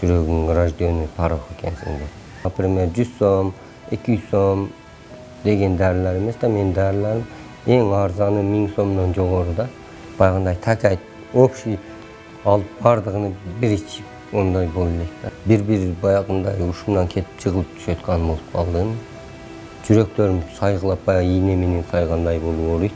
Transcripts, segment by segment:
жүрөгүң рожденный порог экенсиң деп. Например, 100 сом, 200 сом деген дарылар эмес да, менин дарыларым эң арзаны 1000 сомдон жогору да. Баягындай такай общий алып бардыгын бир ичип ондай боло элек да. Бир баягындай ушундан кетип жыгылып түшөткөн болуп калдым. Жүрөктөрүм сайгылап, баягы ийне менен сайгандай болуп ооруйт.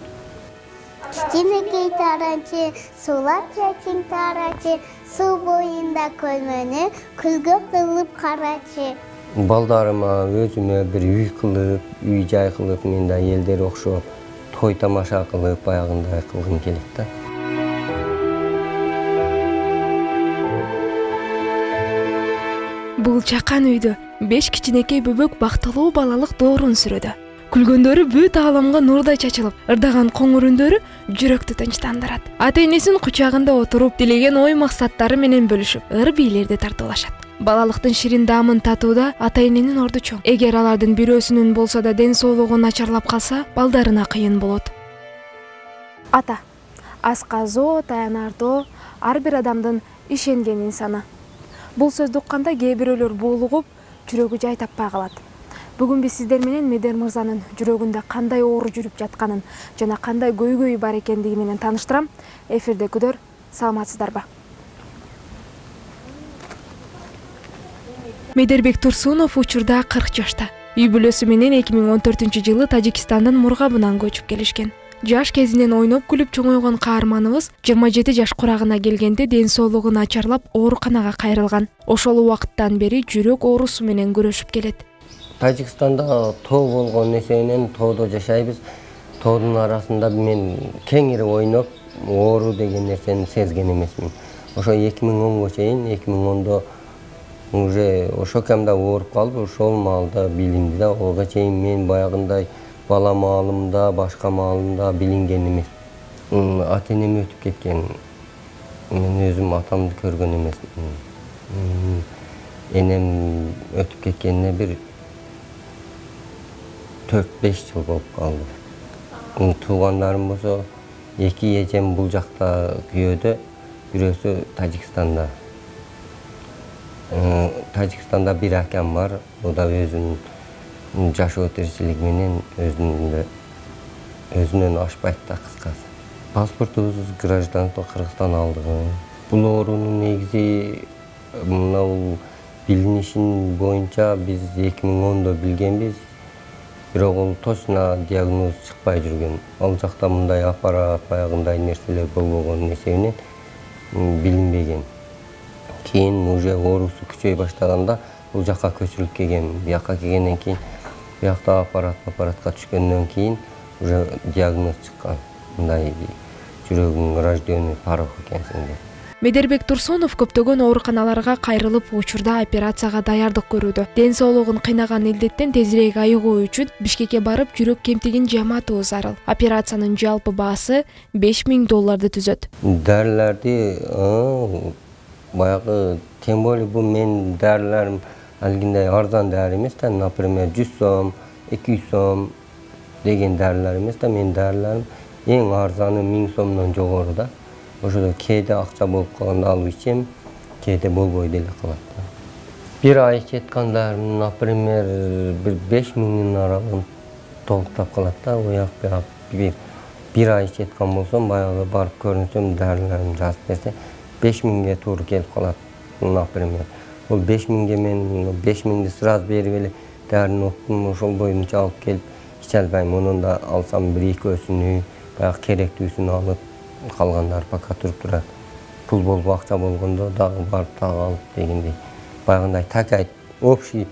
Кичинекей таранчы, сулап чачың тарачы, суу боюнда көлмөнү күлгө кылып карачы. Балдарыма, өзүмө бир үй кылып, үй жай кылып, мен да элдер окшоп, той тамаша кылып, баягындай кылгым келет да. Бул чакан үйдө 5 кичинекей бөбөк бактылуу балалык доорун сүрөдү. Күлгөндөрү бүт ааламга нурдай чачылып, ырдаган коңур үндөрү жүрөктү тынчтандырат. Ата-энесинин кучагында отуруп, тилеген ой максаттары менен бөлүшүп, ыр бийлерди тартуулашат. Балалыктын ширин даамын татууда ата-эненин орду чоң. Эгер алардын бирөөсүнүн болсо да ден соолугу начарлап калса, балдарына кыйын болот. Ата, асказоо, таянардоо ар бир адамдын ишенген инсаны. Бул сөздү укканда кээ бирөөлөр буулугуп, жүрөгү жай таппай калат. Бүгүн биз сиздер менен Медер мырзанын жүрөгүндө кандай оору жүрүп жатканын жана кандай көйгөйү бар экендиги менен тааныштырам. Эфирде күдөр, саламатсыздарбы? Медербек Турсунов учурда 40 жашта. Үй бүлөсү менен 2014-жылы Тажикстандын Мургабынан көчүп келишкен. Жаш кезинен ойноп күлүп чоңойгон каарманыбыз 27 жаш курагына келгенде ден соолугу начарлап ооруканага кайрылган. Ошол убакыттан бери жүрөк оорусу менен күрөшүп келет. Тажикстанда тоо болгон эсебинен тоодо жашайбыз. Тоодун арасында мен кеңири ойноп, оору деген нерсени сезген эмесмин. Ошо 2010го чейин, 2010до уже ошо камда ооруп калып, ошол маалда билинди да. Ого чейин мен баягындай бала маалымда, башка маалымда билинген эмес. Ата-энем өтүп кеткен. Мен өзүм атамды көргөн эмесмин. Энем өтүп кеткенине бир 4-5 жыл болуп калды. Туугандарым болсо, 2 эжем бул жакта күйөөдө, бирөөсү Тажикстанда. Тажикстанда бир акам бар, о да өзүнүн жашоо тиричилиги менен өзүнөн ашпайт да кыскасы. Паспортубуз гражданство Кыргызстан алдык. Бул оорунун негизи мына билинишин боюнча биз 2010до билгенбиз. Бирок ол точно диагноз чыкпай жүргөн. Ал жакта мындай аппарат, баягындай нерселер болбогон эсебинен билинбеген. Кийин уже оорусу күчөй баштаганда бул жакка көчүрүлүп келген. Бияка келгенден кийин, биякта аппаратка түшкөндөн кийин уже диагноз чыккан. Мындай жүрөгүң рожденный порог экенсиң деп. Медербек Турсунов көптөгөн ооруканаларга кайрылып, учурда операцияга даярдык көрүүдө. Ден соолугун кыйнаган илдеттен тезирээк айыгуу үчүн Бишкекке барып, жүрөк кемтигин жаматуу зарыл. Операциянын жалпы баасы $5000 түзөт. Дарыларды баягы тем более бул мен дарыларым алгиндай арзан дары эмес да, например, 100 сом, 200 сом деген дарылар эмес да, мен дарыларым эң арзаны 1000 сомдон жогору да. Ошодо кээде акча болуп калганда алып ичем, кээде болбой деле калат да. Бир ай ичеткандарым, например, бир 5000 аралыгын толуктап калат да. Уяк буяк бир ай ичеткан болсом, баягы барып көрүнсөм, дарыларым жазып берсе, 5000ге туура келип калат, например. Бул 5000ге мен 5000ди сразу берип эле дарыны оптум, ошол боюнча алып келип иче албайм. Онун да алсам бир экөөсүнү, баягы керектүүсүн алып, калгандар пока туруп турат. Пул болуп акча болгондо дагы барып дагы алып дегендей. Баягындай такай общий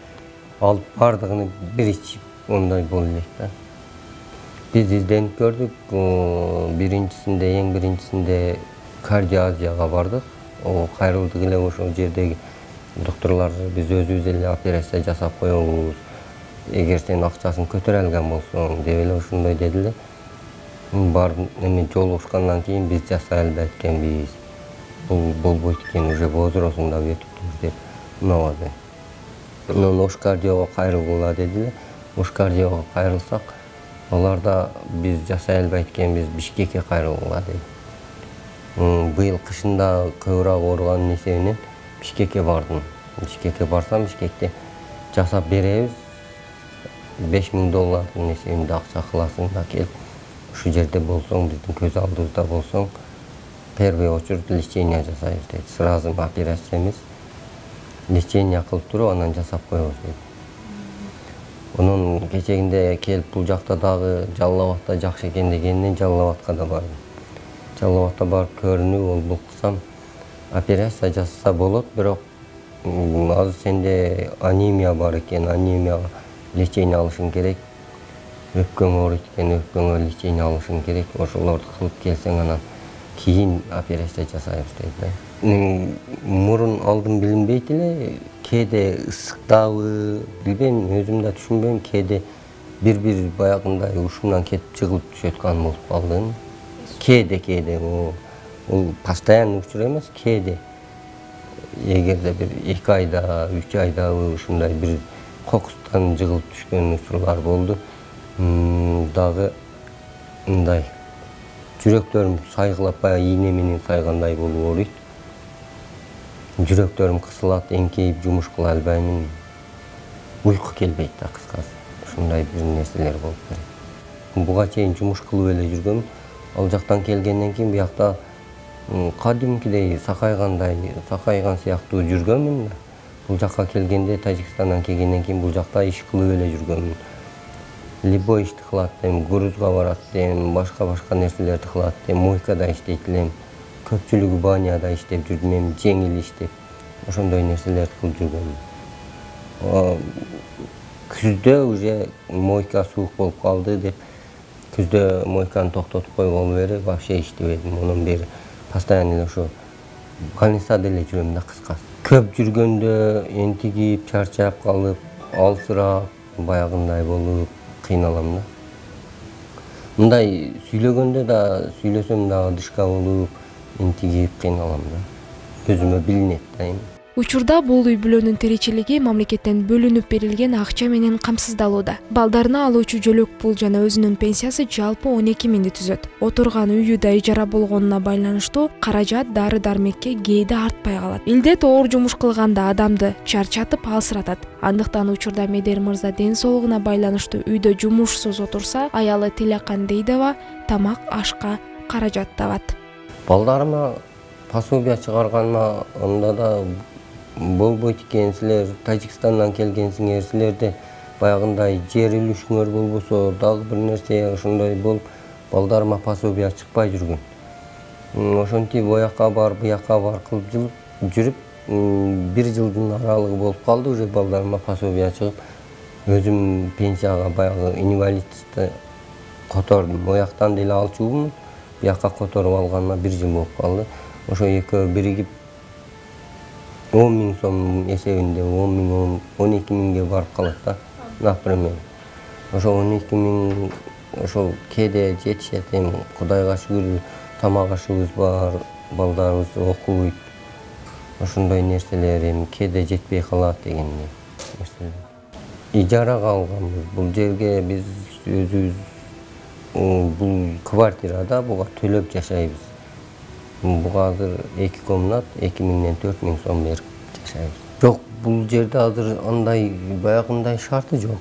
алып бардыгын бир ичип ондай боло элек да. Биз изденип көрдүк. Эң биринчисинде кардиоазияга бардык. Кайрылдык эле ошол жердеги докторлор биз өзүбүз эле операция жасап коебуз. Эгер сен акчасын көтөрө алган болсоң деп эле ошондой дедилер. Барып эме жолугушкандан кийин биз жасай албайт экенбиз. Бул болбойт экен, уже возрастыңда өтүптүр деп унабады. Анан ош кардиого кайрылгыла дедилер. Ош кардиого кайрылсак, алар да биз жасай албайт экенбиз, Бишкекке кайрылгыла деди. Быйыл кышында көбүрөөк ооруганын эсебинен Бишкекке бардым. Бишкекке барсам, Бишкекте жасап беребиз. $5000 эсебинде акча кыласың да келип, ушу жерде болсоң, биздин көз алдыбызда болсоң, первый очередь лечение жасайбыз дейт. Сразу операция эмес, лечение кылып туруп, анан жасап коебуз дейт. Онун кечегинде келип бул жакта дагы Жалал Абадта жакшы экен дегенден Жалал Абадка да бардым. Жалал Абадта барып көрүнүп, ол кылсам операция жасаса болот, бирок азыр сенде анемия бар экен, анемияга лечение алышың керек. Өпкөң ооруйт экен, өпкөңө лечение алышың керек. Ошолорду кылып келсең, анан кийин операция жасайбыз дейт. Мурун алдым билинбейт эле, кээде ысыктабы, билбейм, өзүм да түшүнбөйм, кээде бир баягындай ушунан кетип жыгылып түшөт кан болуп калдым. Кээде ол постоянный учур эмес, кээде. Эгерде бир 2 айда, 3 айда ушундай бир кокустан жыгылып түшкөн учурлар болду. Дагы мындай жүрөктөрүм сайгылап, баягы ийне менен сайгандай болуп ооруйт. Жүрөктөрүм кысылат, эңкейип жумуш кыла албаймын. Уйку келбейт да, кыскасы. Ушундай бир нерселер болуп берет. Буга чейин жумуш кылып эле жүргөм. Ал жактан келгенден кийин буякта кадимкидей сакайган сыяктуу жүргөмүн. Бул жакка келгенде, Тажикстандан келгенден кийин бул жакта иш кылып эле жүргөмүн. Любой ишти кылат дем, грузга барат дем, башка нерселерди кылат дем, мойкада иштейт элем. Көпчүлүгү баняда иштеп жүрдүм, жеңил иштеп. Ошондой нерселерди кылып жүргөм. Күздө уже мойка суук болуп калды деп, күздө мойканы токтотуп койгон бери вообще иштебедим. Онун бери постоянно эле ошо больницада эле жүрөм да, кыскасы. Көп жүргөндө энтигип, чарчап калып, алсырап, баягындай болуп кыйналам да. Мындай сүйлөгөндө да, сүйлөсөм дагы дышка болуп, энтигип кыйналам да. Өзүмө билинет да эми. Учурда бул үй бүлөнүн тиричилиги мамлекеттен бөлүнүп берилген акча менен камсыздалууда. Балдарына алуучу жөлөк пул жана өзүнүн пенсиясы жалпы 12 миңди түзөт. Отурган үйү да ижара болгонуна байланыштуу каражат дары-дармекке кээде артпай калат. Илдет оор жумуш кылганда адамды чарчатып алсыратат. Андыктан учурда Медер мырза ден соолугуна байланыштуу үйдө жумушсуз отурса, аялы Тилекан Дейдова тамак ашка каражат табат. Балдарыма пособие чыгарганына анда да болбойт экен, силер Тажикстандан келгенсиңер, силерде баягындай жер үлүшүңөр болбосо, дагы бир нерсе ошондой болуп, балдарыма пособие чыкпай жүргөн. Ошентип оякка бар, буякка бар кылып жүрүп, 1 жылдын аралыгы болуп калды, уже балдарыма пособие чыгып, өзүм пенсияга баягы инвалидти котордум. Ояктан деле алчумун, буякка которуп алганыма 1 жыл болуп калды. Ошо экөө биригип 10 миң сом эсебинде 12 миңге барып калат да, например. Ошо 12 миң ошол кээде жетишет, эми Кудайга шүгүр тамак ашыбыз бар, балдарыбыз окуйт. Ошондой нерселер эми кээде жетпей калат дегендей нерселер. Ижарага алганбыз. Бул жерге биз өзүбүз бул квартирада буга төлөп жашайбыз. Буга азыр 2 комнат 2 миңден 4 миң сом берип жашайбыз. Жок, бул жерде азыр андай баягындай шарты жок.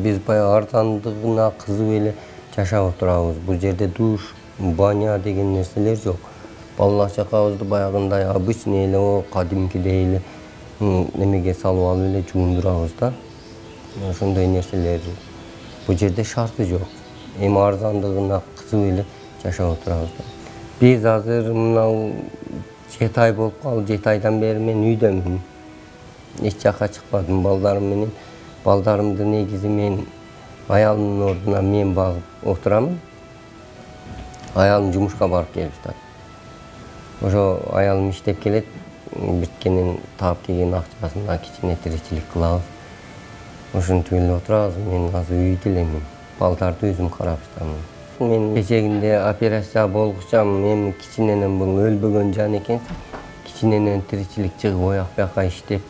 Биз баягы арзандыгына кызып эле жашап отурабыз. Бул жерде душ, баня деген нерселер жок. Бала-чакабызды баягындай обычный эле, кадимкидей эле немеге салып алып эле жуундурабыз да. Ошондой нерселер бул жерде шарты жок. Эми арзандыгына кызып эле жашап отурабыз да. Биз азыр мынау 7 ай болуп калды, 7 айдан бери мен үйдөмүн. Эч жакка чыкпадым балдарым менен. Балдарымды негизи мен аялымдын ордуна мен багып отурамын. Аялым жумушка барып келип жатат. Ошо аялым иштеп келет, биткенин таап келген акчасына кичине тиричилик кылабыз. Ошентип эле отурабыз. Мен азыр үйдө элемин. Балдарды өзүм карап жатамын. Мен кечегинде операция болгучам, эми кичиненен бул өлбөгөн жан экен. Кичиненен тиричилик чыгып ояк-буякка иштеп,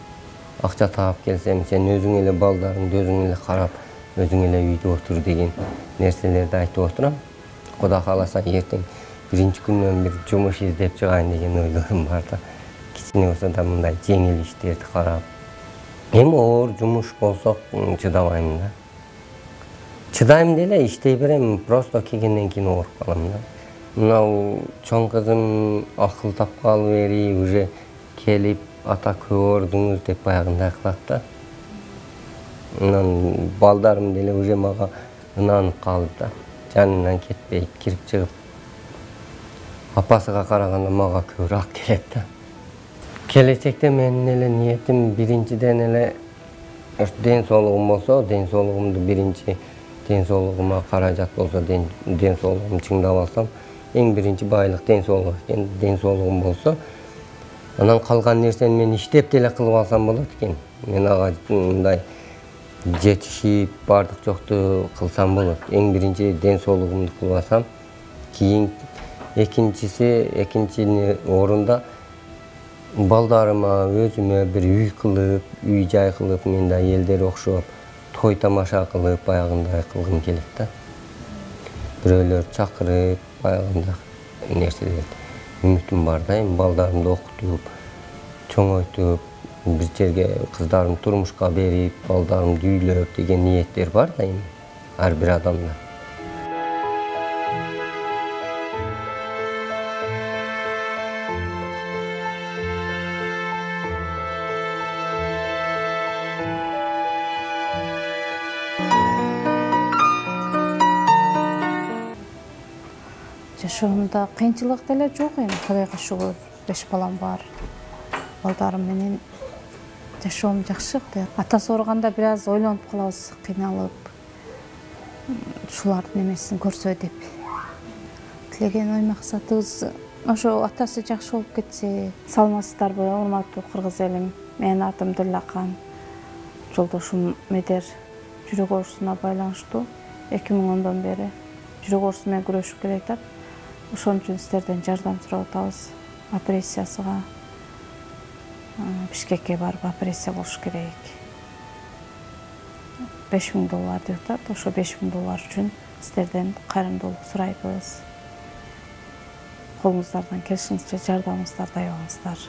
акча таап келсем, сен өзүң эле балдарыңды өзүң эле карап, өзүң эле үйдө отур деген нерселерди айтып отурам. Кудай кааласа эртең биринчи күндөн бир жумуш издеп чыгайын деген ойлорум бар да. кичине болсо да мындай жеңил иштерди карап. Эми оор жумуш болсо чыдабайм да. Чыдайм деле иштей берем, просто келгенден кийин ооруп калам да. Мынау чоң кызым акыл тапкалы бери уже келип ата көп ордуңуз деп баягындай кылат да. Анан балдарым деле уже мага ынанып калды да. Жанынан кетпейт, кирип чыгып. Апасыга караганда мага көбүрөөк келет да. Келечекте менин эле ниетим биринчиден эле ден соолугум болсо, ден соолугумду биринчи ден соолугума каражат болсо, ден соолугумду чыңдап алсам, эң биринчи байлык ден соолук экен. Ден соолугум болсо, анан калган нерсени мен иштеп деле кылып алсам болот экен. Мен ага мындай жетишип, бардык жокту кылсам болот. Эң биринчи ден соолугумду кылып алсам, кийин экинчи орунда балдарыма, өзүмө бир үй кылып, үй жай кылып, мен да элдер окшоп, той тамаша кылып, баягындай кылгым келет да. Бирөөлөр чакырып, баягындай нерселерди. Үмүтүм бар да, эми балдарымды окутуп, чоңойтуп, бир жерге кыздарымды турмушка берип, балдарымды үйлөп деген ниеттер бар да эми ар бир адамда. Жашоомдо кыйынчылык деле жок эми, Кудайга шүгүр, 5 балам бар. Балдарым менен жашоом жакшы. Атасы ооруганда бир аз ойлонуп калабыз, кыйналып. Ушулардын эмесин көрсө деп. Тилеген ой максатыбыз ошо атасы жакшы болуп кетсе. Саламатсыздарбы, урматтуу кыргыз элим? Менин атым Дилакан. Жолдошум Медер жүрөк оорусуна байланыштуу 2010 бери жүрөк оорусу менен күрөшүп келатат. Ошон үчүн сиздерден жардам сурап атабыз. Операциясыга Бишкекке барып операция болуш керек. $5000 деп атат. Ошо $5000 үчүн сиздерден кайрымдуулук сурайбыз. Колуңуздардан келишинче жардамыңыздарды аябаңыздар.